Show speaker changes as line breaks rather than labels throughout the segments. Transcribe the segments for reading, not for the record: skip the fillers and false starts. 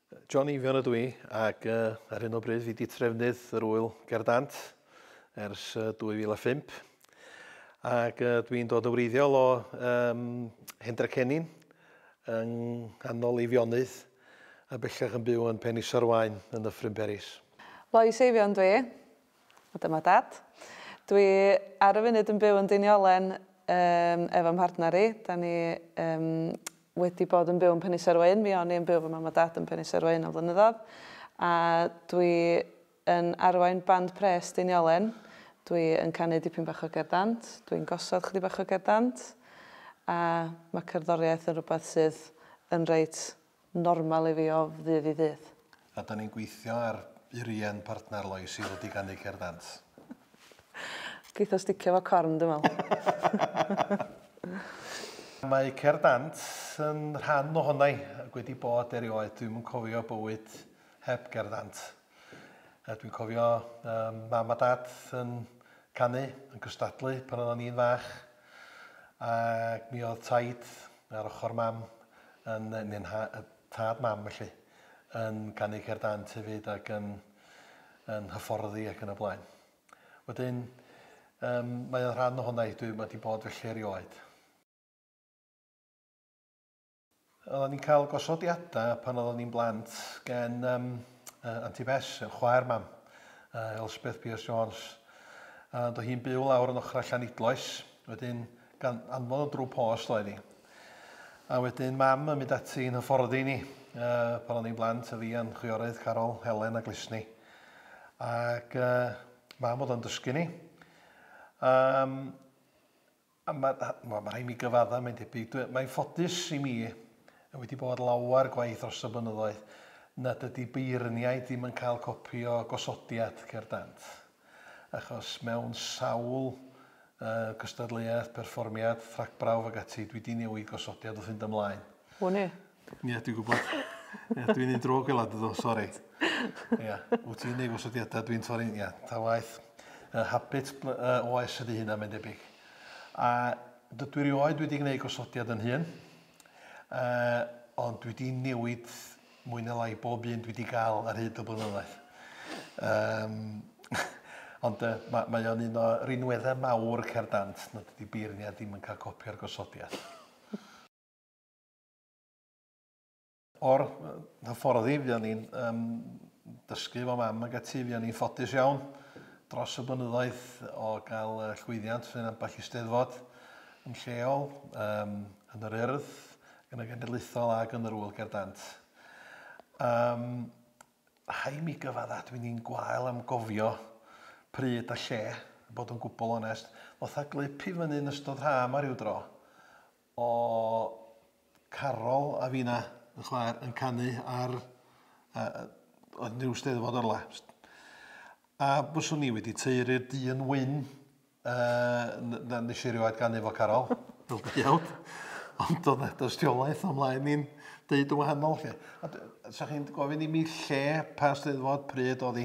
John Eifion ydw i ac ar hyn o bryd fi 'di trefnydd yr ŵyl Ger Dant ers 2005 ac dwi'n dod yn wreiddiol o um, Hendre Cennin yng nghanol Eifionydd a bellach yn byw yn Penisarwaun yn Nyffryn Peris.
Lois Eifion dwi, a dyma dad. Dwi ar y funud yn byw yn Deiniolen um, efo mhartner i. Da ni um, wedi bod yn byw yn Penisarwaun. Mi o'n i yn byw efo mam a dad yn Penisarwaun am flynyddoedd. A dwi yn arwain band pres Deiniolen. Dwi yn canu dipyn bach o gerdd dant. Dwi'n gosod chydig bach o gerdd dant. A mae cerddoriaeth yn rhywbeth sydd yn reit normal i fi o ddydd i ddydd.
A da ni'n gweithio ar Urien, partner Lois, i ddod i ganu cerdd dant.
Geith o sticio fo corn, dwi'n meddwl.
Mae Cerdd Dant yn rhan ohona i ac wedi bod erioed. Dwi'm yn cofio bywyd heb Gerdd Dant. A dwi'n cofio um, mam a dad yn canu, yn cystadlu pan oedden ni'n fach. Ac mi oedd taid ar ochr mam, yn, neu'n tad mam felly, yn canu Cerdd Dant hefyd ac yn, yn hyfforddi ac yn y blaen. Wedyn, um, mae o'n rhan ohona i, dwi wedi bod felly erioed. Oedden ni'n cael gosodiadau pan oedden ni'n blant gen um, uh, Auntie Bess, chwaer mam, uh, Elspeth Pierce Jones. A doedd hi'n byw lawr yn ochrau Llanidloes, wedyn gan anfon o drwy post oedd hi. A wedyn mam yn mynd ati i'n hyfforddi ni uh, pan o'n i'n blant, a fi a'n chwiorydd Carol, Helen a Glisni. Ac uh, mam oedd o'n dysgu ni. Um, a mae ma, ma rhaid mi gyfadda, mae'n debyg. Mae'n ffodus i mi, wedi bod lawer gwaith dros y blynyddoedd, nad ydy beirniaid ddim yn cael copi o gosodiad Cerdd Dant. Achos mewn sawl uh, cystadleuaeth, perfformiad, rhagbrawf ac ati, dwi wedi newid gosodiad wrth fynd ymlaen.
Wn i.
Ie, dwi'n gwybod. Ie, dwi'n un drwg fel ydw, sori. Ie, wyt ti'n neud gosodiadau, dwi'n torri, ie, ta waeth. Habit oes ydy hynna, mae'n debyg. A dydw i rioed wedi gwneud gosodiad yn hun, ond dwi wedi newid mwy neu lai bob un dwi wedi gael ar hyd y blynyddoedd. Um, ond mae, mae o'n un o rinweddau mawr Cerdd Dant nad ydy beirniad ddim yn cael copi o'r gosodiad. O'r hyfforddi, fuon ni'n um, dysgu efo mam ac ati, fuon ni'n ffodus iawn dros y blynyddoedd o gael llwyddiant yn ambell eisteddfod yn lleol, um, yn yr Urdd, yn y Genedlaethol ac yn yr Ŵyl Gerdd Dant. Um, rhaid mi gyfadda, dwi'n un gwael am gofio pryd a lle, bod yn gwbl onest. Ddoth a glip i fyny yn ystod ha yma rhyw dro, o Carol a finna, y chwaer, yn canu ar uh, oedd rhyw steddfod o'r le. A byswn ni wedi taeru'r dyn wyn uh, na nes i rioed ganu fo Carol, fel deuawd. Ond oedd na dystiolaeth o mlaen ni'n deud yn wahanol. Lle. A sa chi'n gofyn i mi lle, pa steddfod, pryd oedd hi,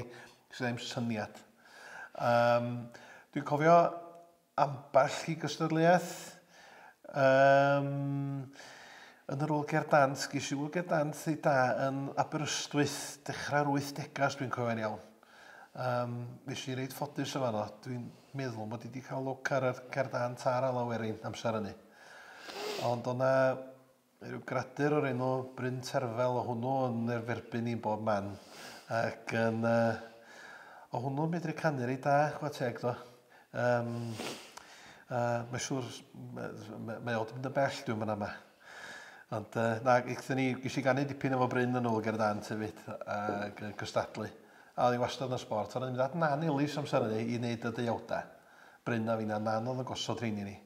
sydd ddim syniad. Um, dwi'n cofio ambell i gystadleuaeth. Um, yn yr Ŵyl Gerdd Dant, ges i Ŵyl Gerdd Dant ei da yn Aberystwyth, dechrau'r 80au, os dwi'n cofio'n iawn. Um, nes i reit ffodus o fanno. Dwi'n meddwl bod i wedi cael lwc ar y Cerdd Dant a'r Alaw Werin amser hynny. Ond o'na Rhyw gradur o'r enw Bryn Terfel, o hwnnw yn erferbyn i'n bob man. Ac yn... Uh, o hwnnw'n medru canu reit da, chwa teg do. Um, uh, mae'n siŵr, mae o wedi mynd yn bell dwi'n mynd yma. Ond uh, na, gaethon ni, ges i ganu dipyn efo Bryn yn ôl ger dant hefyd, ac uh, cystadlu. A oedd hi wastad yn sbort. Ond o'n i'n mynd at Nan Elis amser hynny i wneud y deuawdau. Bryn a finna, Nan oedd yn gosod rheini ni.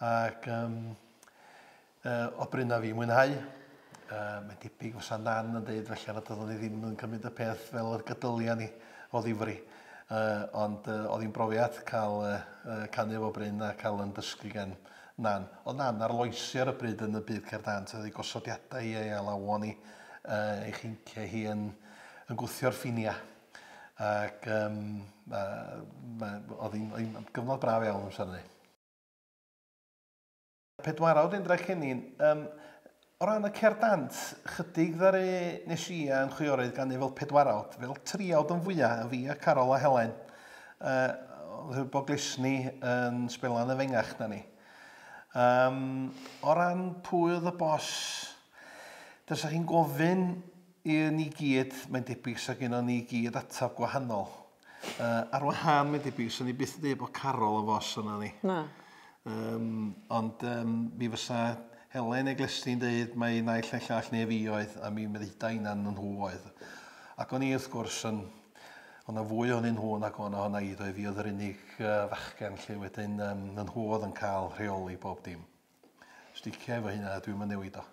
Ac um, Uh, o bryn a fi mwynhau. Uh, mae'n debyg fysa Nan yn deud felly nad oeddwn i ddim yn cymryd y peth fel y gydylia ni o ddifri. Uh, ond uh, oedd hi'n brofiad cael uh, uh, canu efo Bryn a cael yn dysgu gan Nan. Oedd Nan arloesi ar y bryd yn y byd cerdd dant, oedd ei gosodiadau hi a'i alawon hi, uh, ei chinciau hi yn, yn gwthio'r ffiniau. Ac um, uh, oedd hi'n gyfnod braf iawn amser hynny. Pedwarawd Indra Cennin, um, O ran y cerdd dant, chydig ddaru nes i a'n chwiorydd ganu fel pedwarawd, fel triawd yn fwyaf, y fi a Carol a Helen. Oedd bod Glesni yn sbelan y fengach na ni. O ran pwy oedd y bos, Dasa chi'n gofyn i ni gyd, mae'n debyg sa gynnon ni gyd atab gwahanol. Ar wahân, mae'n debyg, sa ni byth yn dweud bod Carol yn fos yna ni.
Na.
Ond mi fysa Helen neu Glesni'n dweud mai naill neu llall neu fi oedd, a mi ddeuda innan nhw oedd. Ac o'n i wrth gwrs yn... O'na fwy ohonyn nhw nag o'na ohona i, doedd, fi oedd yr unig fachgen lle wedyn yn nhw oedd yn cael rheoli bob dim. Sticio efo hynna, dwi'm yn newid o.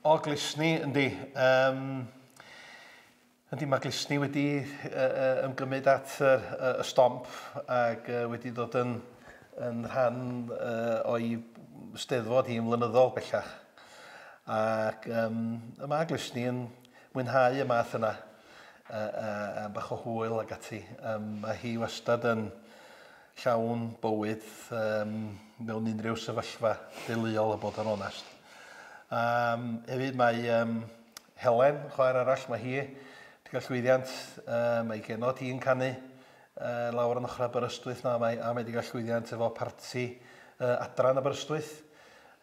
O, Glesni, yndi. Yndi, mae Glesni wedi ymgymryd at y stomp ac wedi dod yn, yn rhan o'i steddfod hi'n flynyddol bellach. Ac y mae Glesni yn mwynhau y math yna, a bach o hwyl ac ati. Mae hi wastad yn llawn bywyd mewn unrhyw sefyllfa deuluol, a bod yn onest. Hefyd mae Helen, chwaer arall, mae hi wedi cael llwyddiant, mae genod hi'n canu lawr yn ochr Aberystwyth na, mae, a mae wedi cael llwyddiant efo parti adran Aberystwyth.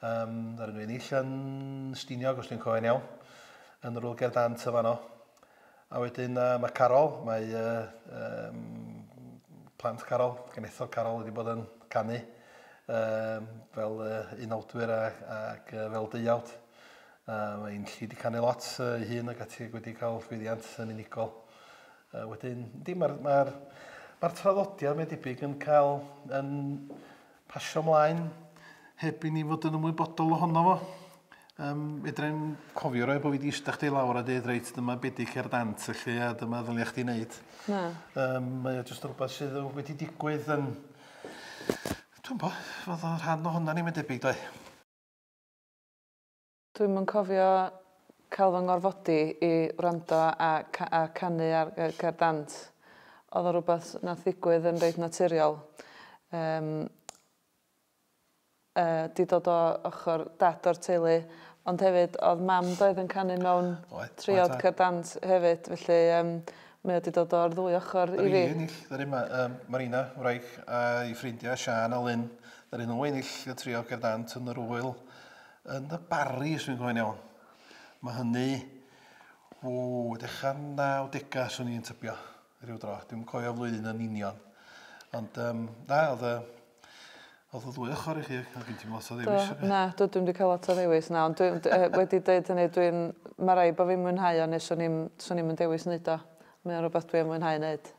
Ar nhw ennill yn Stiniog, os dwi'n cofio'n iawn, yn yr Ŵyl Gerdd Dant y fanno. A wedyn mae Carol, mae plant Carol, genethod Carol wedi bod yn canu fel unawdwyr ac fel deuawd. Mae'n lli wedi canu lot ei hun ac ati wedi cael llwyddiant yn unigol. Wedyn, yndi, mae'r ma traddodiad mae'n debyg yn cael yn pasio ymlaen heb i ni fod yn ymwybodol ohono fo. Fedrai'm cofio roi bod fi wedi eistedd chdi lawr a dweud, reit, dyma be di cerdd dant, felly, a dyma ddylia chdi wneud.
Na.
Mae o jyst rhywbeth sydd wedi digwydd yn... Dwi'n bo, fod o'n rhan ohono ni, mae'n debyg, doi.
Dwi'm yn cofio cael fy ngorfodi i wrando a canu ar cerdd dant. Oedd o rhywbeth nath ddigwydd yn reit naturiol. Di dod o ochr dad o'r teulu, ond hefyd oedd mam doedd yn canu mewn triawd cerdd dant hefyd, felly mae o di dod o'r ddwy ochr i fi.
Ennill, ddaru Marina, wraig, a'i ffrindiau Sian a Lynn, ddaru nhw ennill y triawd cerdd dant yn yr ŵyl yn y Barri, os dwi'n cofio'n iawn. Mae hynny, dechrau 90au, swn i'n tybio, rhyw dro. Dwi'm yn cofio flwyddyn yn union. Ond na, oedd y ddwy ochr i chi, oedd gen ti'm lot o ddewis.
Na, dwi'm wedi cael lot o ddewis, na, ond wedi dweud hynny, mae rhaid bod fi'n mwynhau o, neu swn i'm yn dewis wneud o. Mae o'n rhywbeth dwi'n mwynhau wneud.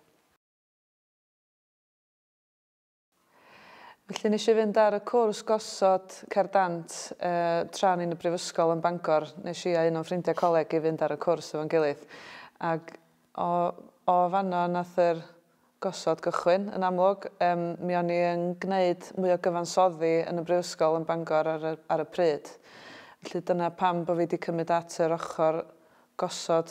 Felly nes i fynd ar y cwrs gosod cerdd dant tra o'n i'n y brifysgol yn Bangor. Nes i a un o'n ffrindiau coleg i fynd ar y cwrs efo'n gilydd. Ac o fanno nath yr gosod gychwyn yn amlwg. Mi o'n i yn gwneud mwy o gyfansoddi yn y brifysgol yn Bangor ar y pryd. Felly dyna pam bod fi wedi cymryd at yr ochr gosod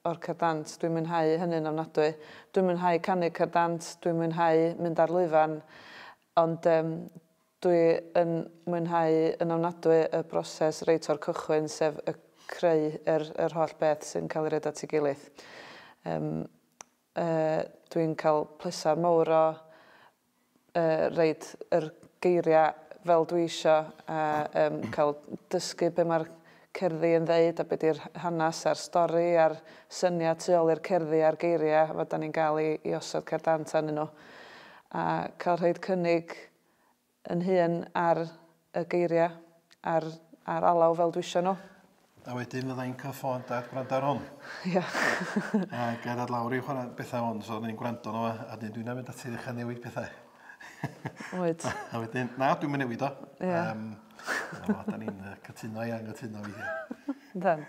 o'r cerdd dant. Dwi'n mwynhau hynny'n ofnadwy. Dwi'n mwynhau canu cerdd dant, dwi'n mwynhau mynd ar lwyfan. Ond dwi yn mwynhau yn ofnadwy y broses reit o'r cychwyn, sef y creu yr holl beth sy'n cael ei roid at ei gilydd. Dwi'n cael pleser mawr o roid yr geiriau fel dwi isio a cael dysgu be mae'r cerddi yn ddeud a be di'r hanes a'r stori a'r syniad tu ôl i'r cerddi a'r geiriau fod da ni'n gael i osod cerdd dant arnyn nhw. A cael rhoid cynnig yn hun ar y geiriau, ar alaw fel dwi isio nhw.
A wedyn fydda i'n cael ffôn dad gwrando ar hwn.
Ia.
A gerdded lawr i chwarae bethau hwn, so ni'n gwrando nhw, a dwi'n mynd ati i ddechrau newid pethau.
Wyt.
A wedyn, na, dwi'n mynd newid o.
Ia.
Da ni'n cytuno i anghytuno weithiau.
Yndan.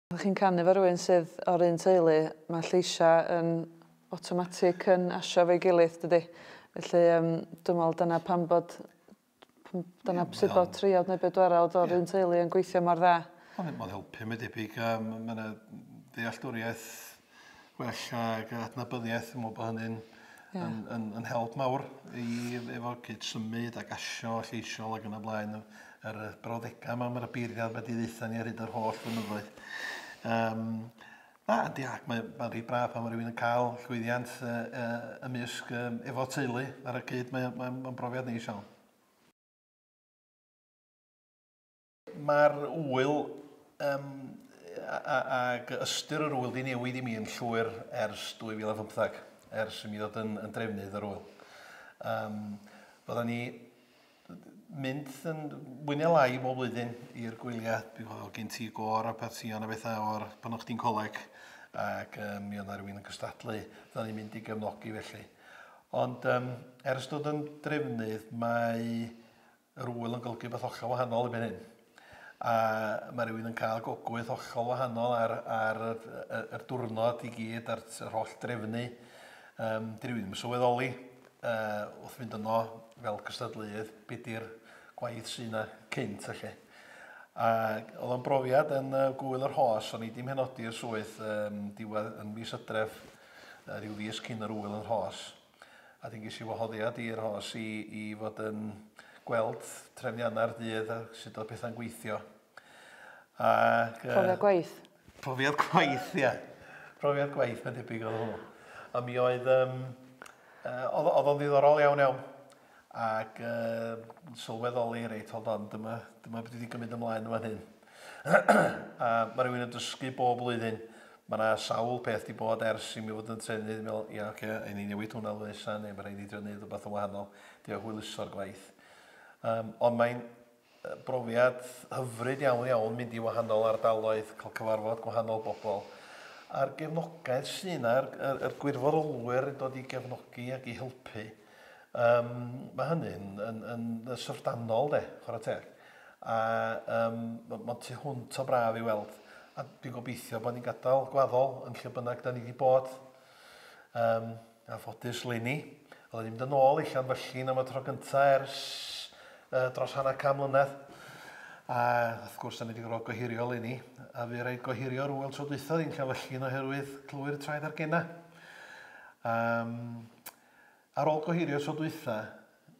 Ydych chi'n canu efo rhywun sydd o'r un teulu, mae lleisiau yn automatic yn asio efo'i gilydd, dydy. Felly, dwi'n meddwl dyna pam bod, dyna sut bod triawd neu bedwarawd o'r un teulu yn gweithio mor dda.
Mae'n helpu, mae'n debyg. Mae yna ddealltwriaeth well ac adnabyddiaeth, dwi'n meddwl bod hynny'n
Ia.
Yn, yn, yn help mawr i efo cyd symud ac asio lleisiol ac yn y blaen yr brawddegau yma, mae'r beirniad wedi ddeutha ni ar hyd yr holl flynyddoedd. Na, yndi, ac mae'n ma rhy braf pan mae rhywun yn cael llwyddiant ymysg efo teulu ar y cyd, mae'n ma, ma brofiad neis iawn. Mae'r ŵyl ag ystyr yr ŵyl di newid i mi yn llwyr ers 2015, ers i mi ddod yn drefnydd yr ŵyl. Bydda ni mynd yn mwy neu lai bob blwyddyn i'r gwyliau. Oedd gen ti gôr a partïon a bethau o'r pan o'ch chdi'n coleg ac mi oedd 'na rywun yn cystadlu, fydda ni'n mynd i gefnogi felly. Ond ers dod yn drefnydd mae yr ŵyl yn golygu beth hollol wahanol erbyn hyn. A mae rhywun yn cael gogwydd hollol wahanol ar yr diwrnod i gyd, a'r yr holl drefnu. Di rhywun ddim yn sylweddoli wrth fynd yno fel cystadleuydd be di'r gwaith sydd yna cynt felly. A oedd o'n brofiad yn Gŵyl yr Rhos, o'n i 'di mhenodi i'r swydd diwedd yn mis Hydref, rhyw fis cyn yr ŵyl yn Rhos. A wedyn ges i wahoddiad i'r Rhos i fod yn gweld trefniannau'r dydd a sut oedd pethau'n gweithio.
Ac, Profiad gwaith?
Profiad gwaith, ia. Profiad gwaith, mae'n debyg oedd hwnnw. A mi oedd, oedd o'n ddiddorol iawn iawn. Ac sylweddoli, reit, hold on, dyma beth wedi gymryd ymlaen yma hyn. A mae rhywun yn dysgu bob blwyddyn. Mae yna sawl peth di bod ers i mi fod yn trefnu, dwi'n meddwl, ia, oce, okay, ni newid hwnna flwyddyn nesaf, neu mae rhaid i drio wneud rhywbeth yn wahanol, dio hwyluso'r gwaith. Ond mae'n brofiad hyfryd iawn iawn mynd i wahanol ardaloedd, cael cyfarfod gwahanol bobl. A'r gefnogaeth sy'n yna, yr gwirfoddolwyr yn dod i gefnogi ac i helpu, mae hynny'n yn syfrdanol de, chwarae teg. A mae'n tu hwnt o braf i weld. A dwi'n gobeithio bod ni'n gadael gwaddol yn lle bynnag da ni wedi bod. A ffodus leni, oedden ni'n mynd yn ôl i Llanfyllin am y tro gyntaf ers dros hanner can mlynedd. A wrth gwrs, da ni wedi gorfod gohirio leni, a fu raid gohirio'r ŵyl tro dwytha yn Llanfyllin oherwydd clwy'r traed ar gena. Ar ôl gohirio tro dwytha,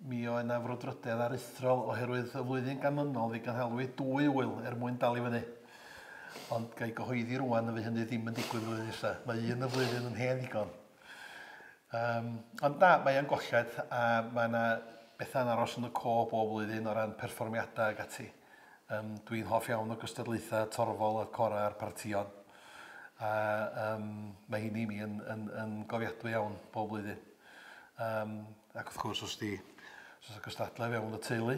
mi oedd yna frwdfrydedd aruthrol oherwydd y flwyddyn ganlynol fi gynhalwyd dwy ŵyl er mwyn dal i fyny. Ond ga i gyhoeddi rwan y fydd hynny ddim yn digwydd flwyddyn nesaf. Mae un y flwyddyn yn hen ddigon. Ond na, mae o'n golled a mae yna bethau'n aros yn y co bob blwyddyn o ran perfformiadau ac ati. Dwi'n hoff iawn o gystadlaethau torfol y corau a'r partïon. A mae hynny i mi yn gofiadwy iawn bob blwyddyn. Ac wrth gwrs, os oes gystadlau fewn y teulu,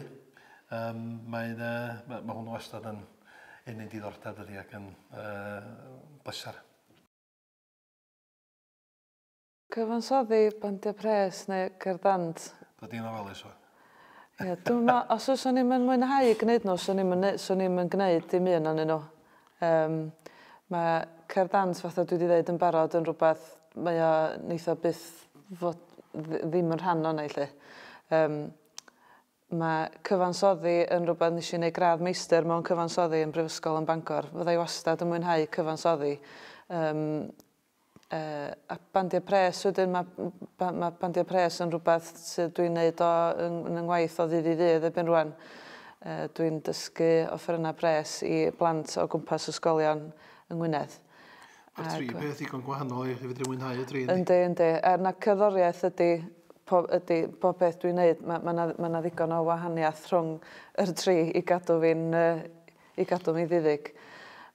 mae hwnnw wastad yn ennyn diddordeb dydi ac yn bleser.
Cyfansoddi bandiau pres neu cerdd dant?
Dod i'n ofalus o.
Ie, dwi'n meddwl, os oes o'n i'n mwynhau gwneud nhw, swn i'm yn gwneud dim un ohonyn nhw. Mae cerdd dant, fatha dwi wedi dweud yn barod, yn rhywbeth, mae o neith o byth fod ddim yn rhan o'na i lle. Mae cyfansoddi yn rhywbeth nes i wneud gradd meistr mewn cyfansoddi yn Brifysgol yn Bangor. Fydda i wastad yn mwynhau cyfansoddi. A bandiau pres wedyn, mae bandiau pres yn rhywbeth sydd dwi'n neud o yn ngwaith o ddydd i ddydd erbyn rwan. Dwi'n dysgu offerynnau pres i blant o gwmpas ysgolion yng Ngwynedd.
Mae'r tri peth ddigon gwahanol i fedru mwynhau y tri,
yndi? Yndi, yndi. Er na cerddoriaeth ydy bob peth dwi'n neud, ma 'na ddigon o wahaniaeth rhwng yr tri i gadw mi ddiddig.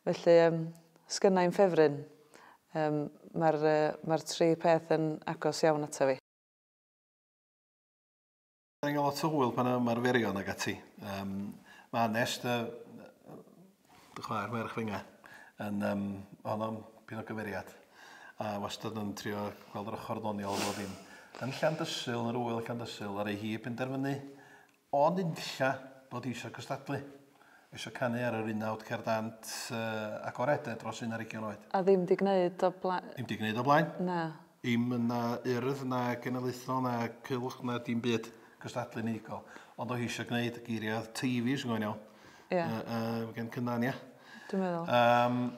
Felly, sgynna i'm ffefryn. Mae'r tri peth yn agos iawn ata fi.
Da ni'n cael lot o hwyl pan ymarferion ag ati. Mae Anest, dy chwaer merch fy yn honno'n pyn o gymeriad. A wastad yn trio gweld yr ochr ddoniol o ddim. Yn Llandysul, yn yr ŵyl Llandysul, ar ei hi penderfynu o nunlla bod hi eisiau cystadlu. Eisiau canu ar yr unawd cerdd dant agored dros 21 oed.
A ddim di gwneud o blaen?
Ddim di gwneud o blaen.
Na.
Ddim na urdd, na genedlaethol, na cylch, na dim byd cystadlu unigol. Ond o hi eisiau gwneud geiriau Teifi, sy'n gwneud iawn.
Ie.
Gen Cynnan, ia.
Dwi'n meddwl.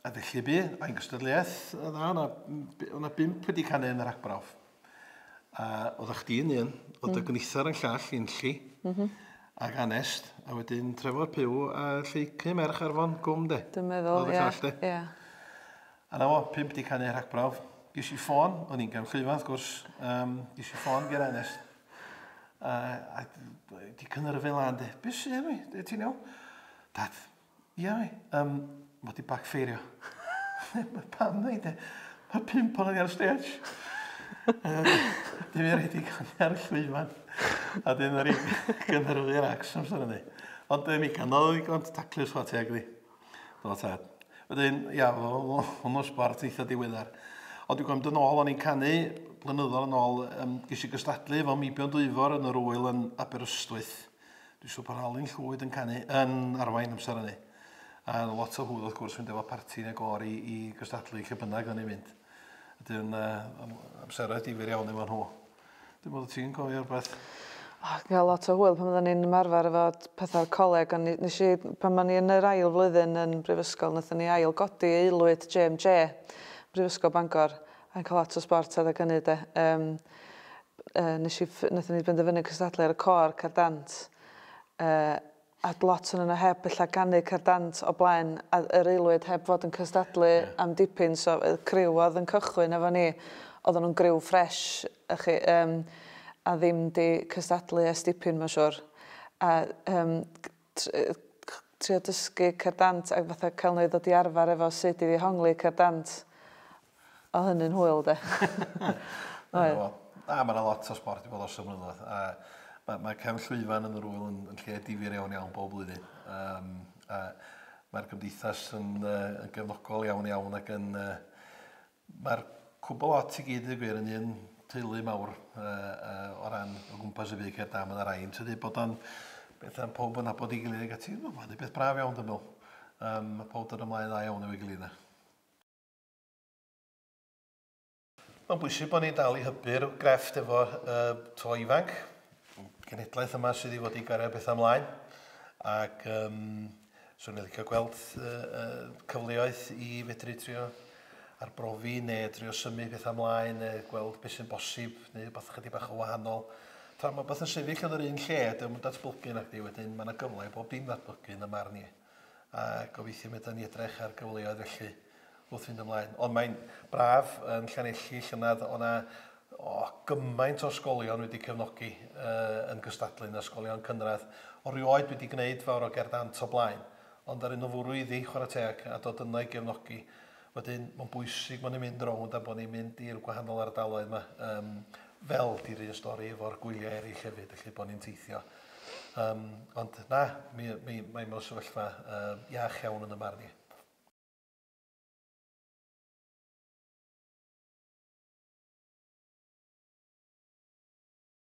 A felly bu, a'n gystadleuaeth, dda, o'na 5 wedi canu yn yr agbrawf. A A oeddech chdi yn un, oedd dy gynithar yn llall, Enlli, ac Anest, a wedyn Trefor Pugh a Lleucu merch Arfon Gwm, de.
Dwi'n meddwl,
Oedd y
ie.
llall, de.
Ie.
A na fo, 5 di canu rhagbrawf. Ges i ffôn, o'n i'n gefn llwyfan, wrth gwrs, ges i ffôn ger Anest. A di cynhyrfu lan, de. Be sy'n mi? Ti'n iawn? Dad, ia mi, mae di backfeirio. Pam na i de? Mae 5 o'n i ar stage. Dim i rhaid i canu ar y llwyfan. A dyn ar i gynhyrfu'r acs amser hynny. Ond mi ganodd o ddigon taclus chwarae teg di. Do tad. Wedyn, ia, hwnnw sbort eitha diweddar. Ond dwi'n gwybod yn ôl, o'n i'n canu blynyddoedd yn ôl, ges i gystadlu efo Meibion Dwyfor yn yr wyl yn Aberystwyth. Dwi'n siŵr bod Alun Llwyd yn canu yn arwain amser hynny. A lot o hwyl wrth gwrs mynd efo parti neu gor i gystadlu lle bynnag o'n i'n mynd. Wedyn, amseroedd difyr iawn efo nhw. Dwi'n meddwl ti'n cofio rhywbeth.
O, gael lot o hwyl pan oedden ni'n ymarfer efo pethau'r coleg, ond nes i, pan o'n i yn yr ail flwyddyn yn brifysgol, wnaethon ni ail godi aelwyd JMJ, Brifysgol Bangor, a'n cael lot o sbort adeg hynny de. Wnaethon ni benderfynu cystadlu ar y côr cerdd dant, a lot o'n yna heb ella ganu cerdd dant o blaen a yr aelwyd heb fod yn cystadlu am dipyn, so y criw oedd yn cychwyn efo ni, oedden nhw'n griw ffresh, a chi, a ddim di cystadlu ers dipyn, mae'n siŵr. A trio dysgu cerdd dant ac fatha cael nhw i ddod i arfer efo sut i ddehongli cerdd dant. Oedd hynny'n hwyl, de. Oedd.
A mae yna lot o sbort i bod dros y blynyddoedd. A mae cefn llwyfan yn yr wyl yn lle difyr iawn iawn bob blwyddyn. A mae'r gymdeithas yn gefnogol iawn iawn ac yn... Mae'r cwbl lot i gyd i gwir yn un teulu mawr o ran o gwmpas y byd cerdd dant. Mae yna rai yn tydi bod o'n beth am pob yn nabod ei gilydd ac ati. Mae'n beth braf iawn, dwi'n meddwl. Mae pob dod ymlaen dda iawn efo'i gilydd yna. Mae'n bwysig bod ni'n dal i hybu'r grefft efo to ifanc, genhedlaeth yma sydd i fod i gario bethau ymlaen. Ac swn i'n licio gweld cyfleoedd i fedru trio arbrofi neu trio symud bethau ymlaen neu gweld beth sy'n bosib neu rhywbeth chydig bach o wahanol. Tra mae beth yn sefyll yn yr un lle, dio'm yn datblygu nacdi, wedyn mae yna gyfle i bob dim ddatblygu yn y marn i. A gobeithio mi ni edrych ar gyfleoedd felly wrth fynd ymlaen. Ond mae'n braf yn Llanelli llynedd, o'na gymaint o ysgolion wedi cefnogi yn gystadlu yn ysgolion cynradd. O rioed wedi gwneud fawr o gerdd dant o blaen, ond ar un o fwrw iddi chwarae teg a dod yna i gefnogi. Wedyn, mae'n bwysig bod ni'n mynd rownd a bod ni'n mynd i'r gwahanol ardaloedd yma, fel di'r un stori efo'r gwyliau eraill hefyd, felly bod ni'n teithio. Ond na, mi, mi, mae mewn sefyllfa iach iawn yn y marn i.